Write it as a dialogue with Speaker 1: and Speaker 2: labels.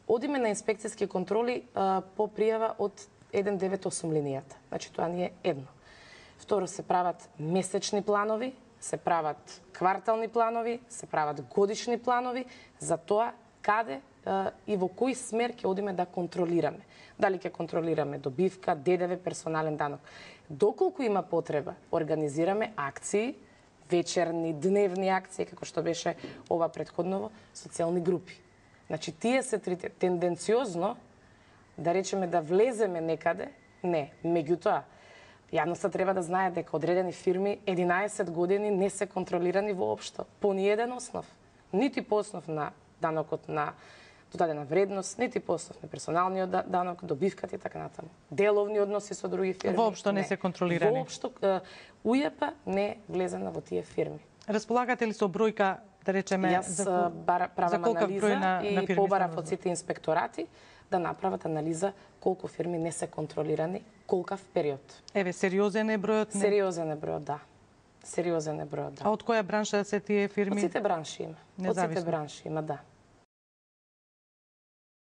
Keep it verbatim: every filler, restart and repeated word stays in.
Speaker 1: Одиме на инспекцијски контроли а, по пријава од еден девет осум линијата. Значи тоа ни е едно. Второ, се прават месечни планови, се прават квартални планови, се прават годишни планови за тоа каде а, и во кој смер ќе одиме да контролираме. Дали ќе контролираме добивка, ДДВ, персонален данок. Доколку има потреба, организираме акции, вечерни, дневни акции, како што беше ова претходново, социјални групи. Значи, тие се трите тенденциозно, да речеме да влеземе некаде, не. Меѓутоа, јавноста треба да знае дека одредени фирми единаесет години не се контролирани воопшто, по ниеден основ. Нити по основ на данокот на додадена вредност, нити по основ на персоналниот данок, добивката и така натаму. Деловни односи со други фирми.
Speaker 2: Воопшто не, не се контролирани.
Speaker 1: Воопшто УЈП не е влезена во тие фирми.
Speaker 2: Располагате ли со бројка, да речеме,
Speaker 1: Јас
Speaker 2: за,
Speaker 1: правам
Speaker 2: за
Speaker 1: анализа
Speaker 2: на,
Speaker 1: и
Speaker 2: на
Speaker 1: побарав од сите инспекторати да направат анализа колку фирми не се контролирани, колкав период.
Speaker 2: Еве, сериозен е бројот? Не?
Speaker 1: Сериозен е бројот, да. Сериозен е бројот, да.
Speaker 2: А од која бранша се тие фирми?
Speaker 1: Од сите бранши има. Од сите бранши има, да.